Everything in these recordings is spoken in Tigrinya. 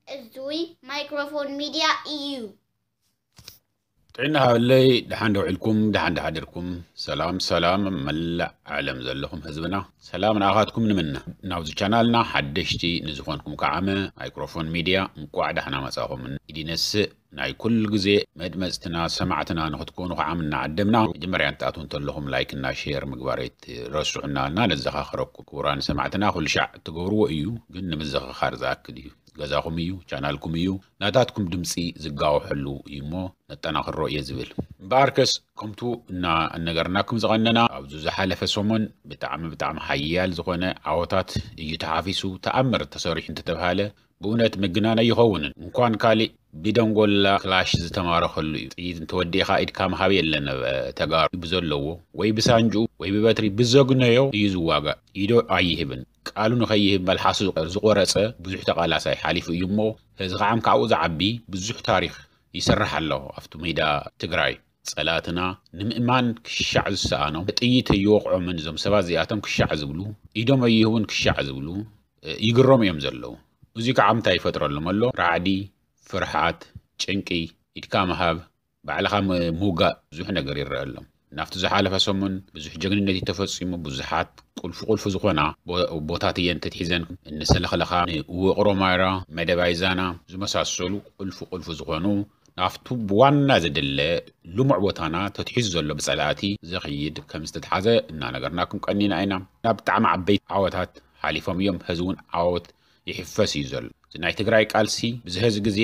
እዙይ ማይክሮፎን ሚድያ እዩ። ጥዕና ሃበለይ። ደሓን ደውዒልኩም፣ ደሓን ደሓደርኩም። ሰላም ሰላም፣ መላእ ዓለም ዘለኹም ህዝብና፣ ሰላም ንኣኻትኩም ንምነ። ናብዚ ቻናልና ሓደሽቲ ንዝኾንኩም ከዓመ ማይክሮፎን ሚድያ እንቋዕ ደሓና መጻኹም ኢዲነስእ። ናይ ኩሉ ግዜ መድመጽትና ሰማዕትና ንኽትኮኑ ከዓም እናዓደምና፣ መጀመርያ እንትኣትዉ እንተለኹም ላይክ እና ሼር ምግባር ኣይትረስዑና እና ነዘኻኽረኩም። ክቡራን ሰማዕትና፣ ኩሉ ሻዕ እትገብርዎ እዩ፣ ግን ንምዝኽኻር ዝኣክል እዩ። ገዛኹም እዩ፣ ቻናልኩም እዩ፣ ናታትኩም ድምፂ ዝጋወሐሉ እዩ እሞ ነጠናኽሮ እየ ዝብል። እምበኣርከስ ከምቱ እና እነገርናኩም ዝቐነና፣ ኣብዚ ዝሓለፈ ሰሙን ብጣዕሚ ብጣዕሚ ሓያል ዝኾነ ዓወታት እዩ ተሓፊሱ። ተኣምር ተሰሪሑ እንተተብሃለ ብእውነት ምግናን ኣይኸውንን። እንኳን ካሊእ ብደንጎላ ክላሽ ዝተማረኸሉ እዩ። ጥይት እንተወዲእኻ ኢድካ ምሃብ የለን። ተጋሩ ብዘለዎ ወይ ብሳንጅኡ ወይ ብበትሪ ብዘግነዮ እዩ ዝዋጋእ። ኢዶ ኣይህብን። ቃሉ ንኸይህብ መልሓሱ ዝቆረፀ ብዙሕ ተቓላሳይ ሓሊፉ እዩ እሞ፣ ሕዚ ከዓም ካብኡ ዝዓቢ ብዙሕ ታሪኽ ይሰርሕ ኣሎ ኣብቲ ሜዳ ትግራይ። ፀላእትና ንምእማን ክሻዕ ዝሰኣኖም፣ ጥይት ኣይወቕዖምን እዞም ሰባት እዚኣቶም ክሻዕ ዝብሉ፣ ኢዶም ኣይህቡን ክሻዕ ዝብሉ፣ እ፣ ይግረሙ እዮም ዘለዉ። እዚ ከዓ እንታይ ይፈጥረሎም ኣሎ? ራዕዲ፣ ፍርሓት፣ ጭንቂ፣ ኢድካ ምሃብ፣ ባዕልኻ ም-፣ ምውጋእ፣ ብዙሕ ነገር ይረአ ኣሎ። ናብቲ ዝሓለፈ ሰሙን ብዙሕ ጀግንነት እዩ ተፈፂሙ። ብዙሓት ቁልፊ ቁልፊ ዝኾና ቦ-፣ ቦታት እየን ተትሒዘን፣ እኒ ሰለኽለኻ፣ ንውቕሮ ማይራ፣ መደባይ ዛና ዝመሳሰሉ ቁልፊ ቁልፊ ዝኾኑ ናብቱ ብዋና ዘድለ ልሙዕ ቦታና ተትሒዙ ዘሎ ብፀላእቲ ዘኽይድ ከም ዝተትሓዘ እናነገርናኩም ቀኒና ኢና። ናብ ብጣዕሚ ዓበይቲ ዓወታት ሓሊፎም እዮም። ሕዚ እውን ዓወት ይሕፈስ እዩ ዘሎ። እዚ ናይ ትግራይ ቃልሲ ብዝሕዚ ግዜ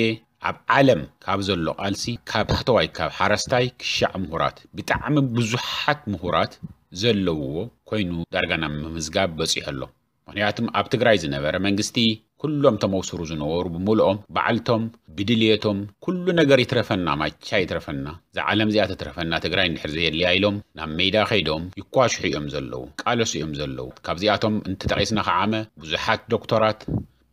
ኣብ ዓለም ካብ ዘሎ ቃልሲ፣ ካብ ታሕተዋይ፣ ካብ ሓረስታይ ክሻዕ ምሁራት፣ ብጣዕሚ ብዙሓት ምሁራት ዘለውዎ ኮይኑ ዳርጋ ናብ ምምዝጋብ በፂሑ ኣሎ። ምኽንያቱም ኣብ ትግራይ ዝነበረ መንግስቲ ኩሎም ተመውስሩ ዝነበሩ ብምልኦም ባዕልቶም ብድልየቶም ኩሉ ነገር ይትረፈና፣ ማቻ ይትረፈና፣ እዛ ዓለም እዚኣ ትትረፈና፣ ትግራይ እንድሕር ዘየድልያ ኢሎም ናብ ሜዳ ከይዶም ይኳሽሑ እዮም ዘለዉ፣ ቃለሱ እዮም ዘለዉ። ካብዚኣቶም እንተጠቒስና ከዓመ ብዙሓት ዶክተራት፣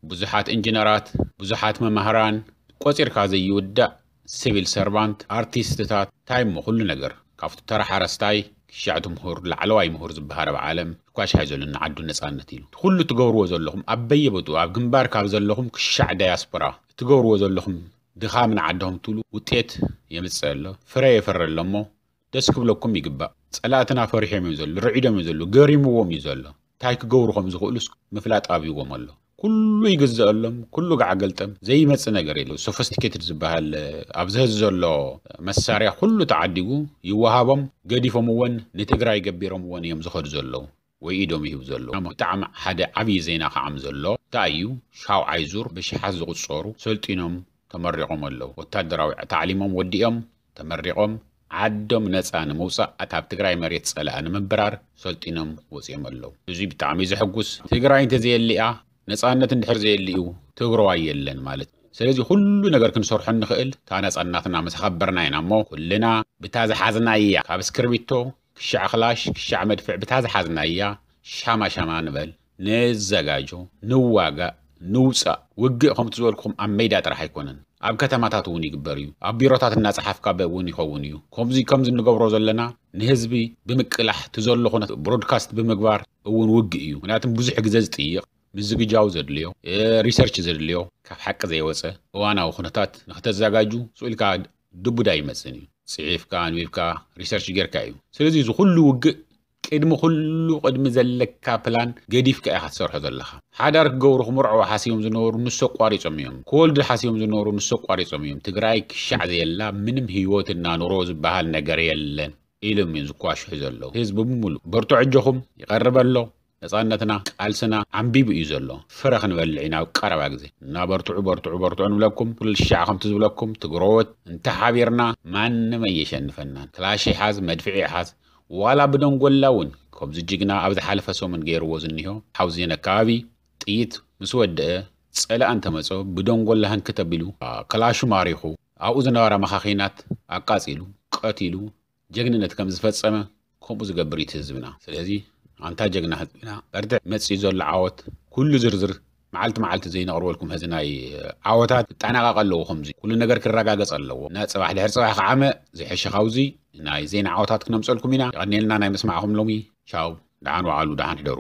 ብዙሓት ኢንጂነራት፣ ብዙሓት መማህራን፣ ቆፂርካ ዘይውዳእ ሲቪል ሰርቫንት፣ ኣርቲስትታት፣ እንታይ እሞ ኩሉ ነገር ካብቲ ተራ ሓረስታይ ክሻዕ እቲ ምሁር፣ ላዕለዋይ ምሁር ዝበሃል ኣብ ዓለም ይኳሽሓ ዘሎ ንዓዱ ነፃነት ኢሉ። ኩሉ ትገብርዎ ዘለኹም ኣብ በየቦትኡ ኣብ ግንባር ካብ ዘለኹም ክሻዕ ዳያስፖራ እትገብርዎ ዘለኹም ድኻም ንዓድኹም ትብሉ ውጤት የምፅእ ኣሎ፣ ፍረ የፍሪ ኣሎ እሞ ደስ ክብለኩም ይግባእ። ፀላእትና ፈሪሖም እዮም ዘለዉ፣ ርዒዶም እዮም ዘለዉ፣ ገሪምዎም እዩ ዘሎ። እንታይ ክገብሩ ከም ዝኽእሉስ ምፍላጥ ኣብይዎም ኣሎ። ኩሉ ይግዘአሎም፣ ኩሉ ጋዕ ገልጠም፣ ዘይመጽእ ነገር የለ። ሶፊስቲኬትድ ዝበሃል ኣብዚ ሕዚ ዘሎ መሳርያ ኩሉ ተዓዲጉ ይወሃቦም፣ ገዲፎምዎን ንትግራይ ገቢሮምዎን እዮም ዝኸዱ ዘለዉ ወይ ኢዶም ይህቡ ዘለዉ። ብጣዕሚ ሓደ ዓብዪ ዜና ከዓም ዘሎ እንታይ እዩ? ሻውዓይ ዙር ብሽሓት ዝቑጸሩ ሰልጢኖም ተመሪቖም ኣለዉ። ወታደራዊ ታዕሊሞም ወዲኦም ተመሪቖም ዓዶም ነፃ ንምውፃእ፣ ካብ ትግራይ መሬት ፀላኢ ንምብራር ሰልጢኖም ወፂኦም ኣለዉ። እዚ ብጣዕሚ እዩ ዘሐጉስ። ትግራይ እንተዘየሊኣ፣ ነፃነት እንድሕር ዘየሊኡ ትግራዋይ የለን ማለት እዩ። ስለዚ ኩሉ ነገር ክንሰርሖ እንኽእል እታ ነፃነትና ምስ ኣኸበርና ኢና እሞ፣ ኩልና ብታ ዝሓዝናያ፣ ካብ እስክርቢቶ ክሻዕ ክላሽ ክሻዕ መድፍዕ ብታ ዝሓዝናያ ሻማ ሻማ ንበል፣ ንዘጋጆ፣ ንዋጋእ፣ ንውፃእ። ውግእ ከምቲ ዝበልኩኹም ኣብ ሜዳ ጥራሕ ኣይኮነን፣ ኣብ ከተማታት እውን ይግበር እዩ። ኣብ ቢሮታት እናፀሓፍካ እውን ይኸውን እዩ። ከምዚ ከምዚ እንገብሮ ዘለና ንህዝቢ ብምቅላሕ፣ እቲ ዘሎ ኩነት ብሮድካስት ብምግባር እውን ውግእ እዩ። ምክንያቱም ብዙሕ ግዜ ዝጥይቕ፣ ምዝግጃው ዘድልዮ፣ እ፣ ሪሰርች ዘድልዮ፣ ካብ ሓቂ ዘይወፀ እዋናዊ ኩነታት ንክተዘጋጁ ስኡ ኢልካ ድቡዳ ይመፅን እዩ። ፅሒፍካ ኣንቢብካ ሪሰርች ጌርካ እዩ። ስለዚ እዚ ኩሉ ውግእ ቅድሚ ኩሉ ቅድሚ ዘለካ ፕላን ገዲፍካ ኢኻ ትሰርሖ ዘለኻ። ሓዳር ክገብሩ ክምርዐው ሓሲቦም ዝነበሩ ንሱ ኣቋሪጾም እዮም። ክወልዱ ሓሲቦም ዝነበሩ ንሱ ኣቋሪጾም እዮም። ትግራይ ክሻዕ ዘየላ ምንም ህይወትና ኑሮ ዝበሃል ነገር የለን ኢሎም እዮም ዝኳሽሑ ዘለዉ። ህዝቢ ብምሉእ በርትዑ፣ ኣጆኹም፣ ይቐርብ ኣሎ፣ ነፃነትና፣ ቃልስና ዓምቢቡ እዩ ዘሎ። ፍረ ክንበልዕ ኢና ኣብ ቀረባ ግዜ እና በርትዑ፣ በርትዑ፣ በርትዑ ንብለኩም። ኩሉ ሻዕ ከምቲ ዝብለኩም ትግረዎት እንተሓቢርና ማንም ኣየሸንፈናን። ክላሽ ይሓዝ፣ መድፍዒ ይሓዝ፣ ዋላ ብደንጎላ እውን ከምዚ ጅግና ኣብ ዝሓለፈ ሰሙን ገይርዎ ዝኒሆ ሓውዜን ኣካባቢ ጥይት ምስ ወደአ ፀላእ እንተመፆ ብደንጎላ ህንክት ኣቢሉ ክላሹ ማሪኹ ኣብኡ ዝነበራ መኻኺናት ኣቃፂሉ ቀቲሉ ጀግንነት ከም ዝፈፀመ ከምኡ ዝገብር እዩ እቲ ህዝብና። ስለዚ ኣንታ ጀግና ህዝብና በርትዕ፣ መፂኡ ዘሎ ዓወት ኩሉ ዝርዝር መዓልቲ መዓልቲ ዘይነቕርበልኩም ሕዚ ናይ ዓወታት ክጠናቐቕ ኣለዎ። ከምዚ ኩሉ ነገር ክረጋገጽ ኣለዎ። እና ጽባሕ ድሕሪ ጽባሕ ከዓመ ዝሕሸ ካብዚ ናይ ዜና ዓወታት ክነምጸልኩም ኢና። የቐንየልና ናይ ምስማዕኹም ሎሚ። ቻው፣ ደሓን ወዓሉ፣ ደሓን ሕደሩ።